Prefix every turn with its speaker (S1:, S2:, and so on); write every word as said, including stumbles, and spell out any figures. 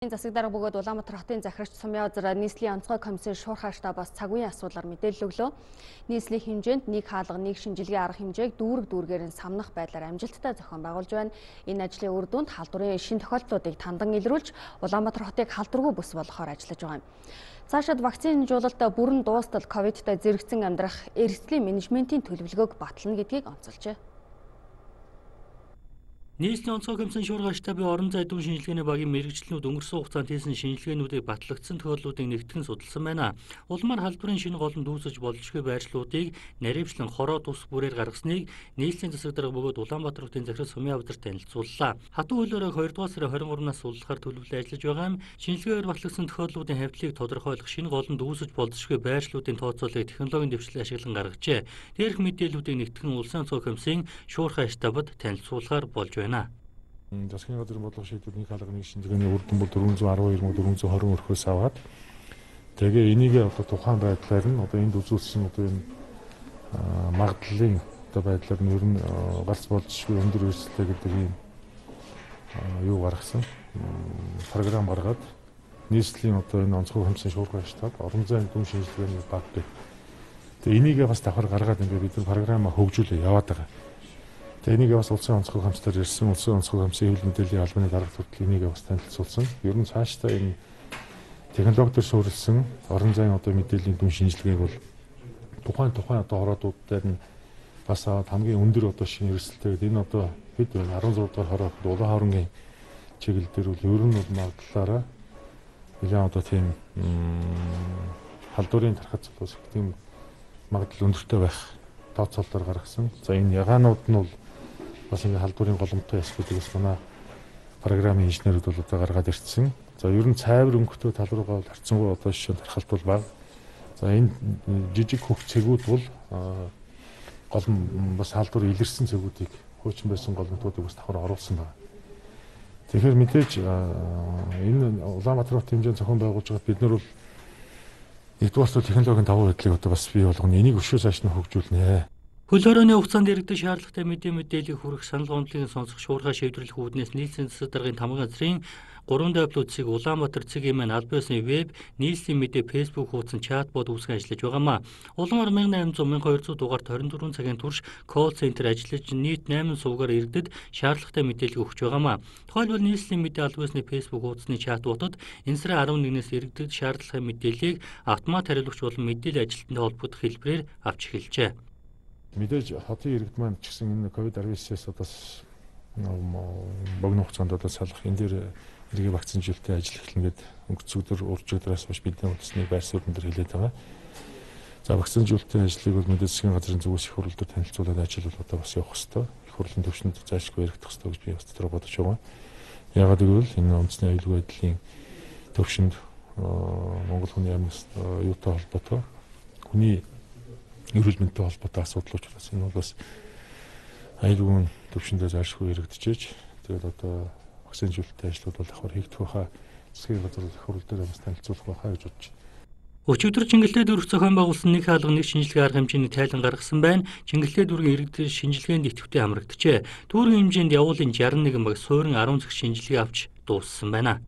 S1: Засаг дарга бөгөөд Улаанбаатар хотын захирагч Сумья Озер нийслэлийн онцгой комиссын шуурхай штабаас цагуйн асуудлаар мэдээлэл өглөө. Нийслэлийн хэмжээнд нэг хаалга, нэг шинжилгээ арга хэмжээг дүүрэг дүүргээр нь самнах байдлаар амжилттай зохион байгуулж байна. Энэ ажлын үр дүнд халдварын шин тохиолдлуудыг тандан илрүүлж, Улаанбаатар хотыг халдваргүй бүс болгохоор ажиллаж байгаа юм. Цаашид вакцинжуулалт бүрэн дуустал ковидтай зэрэгцэн амьдрах эрсдлийн менежментийн төлөвлөгөөг батлана гэдгийг онцолжээ.
S2: Нийслэлийн онцгой комиссын шуурхай штабын орон зай дүүн шинжилгээний багийн мэрэгчлэнүүд өнгөрсөн хугацаанд хийсэн шинжилгээнүүдийг батлагдсан тохиолдлуудыг нэгтгэн судалсан байна. Улмаар халдварын шинэ голомт үүсэж боломжгүй байршлуудыг наривчлан хороо тус бүрээр гаргасныг нийслэлийн засаг дарга бөгөөд Улаанбаатар хотын захирал Сумья Озер танилцууллаа. Хатуу хуулиараа хоёрдугаар сарын хорин гуравнаас суулгахаар төлөвлөлөө ажиллаж байгаа юм. Шинжилгээгээр батлагдсан тохиолдлуудын хавьтлыг тодорхойлох, шинэ голомт үүсэж болзошгүй байршлуудын тооцоолыг технологийн дэвшлэл ашиглан гаргажээ. Дээрх мэдээллүүдийг нэгтгэн улсын онцгой комиссын шуурхай штабад танилцуулахаар болж байна.
S3: Засгийн газрын бодлого шийдвэр нэг хаалга нэг шинжилгээний үр дүн бол дөрвөн зуун арван хоёр мянга дөрвөн зуун хорин өрхөөс аваад тэгээ энийг одоо тухайн байдлаар нь одоо энд үзүүлсэн одоо энэ магадлалын одоо байдлаар нь ер нь галз болзошгүй өндөр өрсөлдөй гэдэг ийм юу гаргасан програм гаргаад нийслэлийн одоо энэ онцгой комиссын шуурхай штаб орон зайн дүүн шинжилгээний баг гэх. Тэгээ энийгээ бас давхар гаргаад ингээд бид нар програмаа хөгжүүлээ яваад байгаа. Энийг бас улсын онцгой комиссаар ирсэн, улсын онцгой комиссын хэвлэл мэдээллийн албаны дарга хүртэл энийг бас танилцуулсан. Ер нь цаашдаа энэ технологиор суурилсан орон зайн одоо мэдээллийн дүн шинжилгээг бол тухайн тухайн одоо хороодууд дээр нь бас хамгийн өндөр одоо шинэ эрсдэлтэй энэ одоо хэд вэ арван зураг дахь хороо улаан хоорондын чиглэл дээр бол ер нь бол магадлалаараа нэлээд одоо тийм халдварын тархац бас тийм магадлал өндөртэй байх тооцоололоор гаргасан. За энэ ягаанууд нь бол бас ингэ халдварын голомттой ясгуудыг бас манай програмын инженерүүд бол одоо гаргаад ирсэн. За ер нь цайвар өнгөтэй тал руугаа бол харьцангуй одоо жишээ нь тархалт бол бага. За энэ жижиг хөх цэгүүд бол голом бас халдвар илэрсэн цэгүүдийг хуучин байсан голомтуудыг бас давхар оруулсан байна. Тэгэхээр мэдээж энэ Улаанбаатар хотын хэмжээнд зохион байгуулж байгаа бид нар бол нэгдүгээр технологийн давуу байдлыг одоо бас бий болгоно. Энийг өшөө цааш нь хөгжүүлнэ.
S2: Хөл хорооны хугацаанд иргэдэг шаардлагатай мэдээ мэдээллийг хүргэх санал гомдлыг сонсох шуурхай шийдвэрлэх үүднээс нийслэлийн засаг даргын тамга газрын гурван дэвлүүдсийг Улаанбаатар цэгийн маань албан ёсны веб, нийслэлийн мэдээ фэйсбүүк хуудсан чатбот үүсгэн ажиллаж байгаамаа. Улмаар мянга найман зуун мянга хоёр зуун дугаарт хорин дөрвөн цагийн турш колл центр ажиллаж нийт найман суугаар иргэдэд шаардлагатай мэдээлэл өгч байгаамаа. Тухайлбал нийслэлийн мэдээ албан ёсны фэйсбүүк хуудасны чатботод энэ сарын арван нэгнээс иргэдэд шаардлагатай мэдээллийг автомат хариулагч болон мэдээлэл ажилтнтай холбогдох хэлбэрээр авч эхэлжээ.
S3: Мэдээж хотын иргэд маань ч гэсэн энэ ковид арван-ээс одоо богино хугацаанд одоо салах энэ дээр эргээ вакцинжуулалтын ажил эхэлнэ гэдэг өнгөрсөн өдөр урьдчилгаараас хойш бидний үндэсний байр суурин дээр хэлээд байгаа. За вакцинжуулалтын ажлыг бол мэдээж засгийн газрын зүгээс их хурлаар танилцуулаад ажил бол одоо бас явах хэрэгтэй. Их хурлын төвшөнд заашгүй яригдах хэрэгтэй гэж би бас тодорхой бодож байгаа. Яагаад гэвэл энэ үндэсний аюулгүй байдлын төвшөнд Монгол хүний амьд юутай холбоотой хүний эрүүл мэндтэй холбоотой асуудал учраас энэ бол бас аюулгүй төвшөндөө заашгүй яригдчихэж тэгээд одоо вакцинжуулалтын ажлууд бол давхар хийгдэх байхаа засгийн газар их хурл дээр бас танилцуулах байхаа гэж бодож байна.
S2: Өчигдөр Чингэлтэй дүүрэг зохион байгуулсан нэг хаалга нэг шинжилгээ арга хэмжээний тайлан гаргасан байна. Чингэлтэй дүүргийн иргэдэд шинжилгээнд идэвхтэй хамрагджээ. Дүүргийн хэмжээнд явуулын шестьдесят нэгэн баг суурин арван цагт шинжилгээ авч дууссан байна.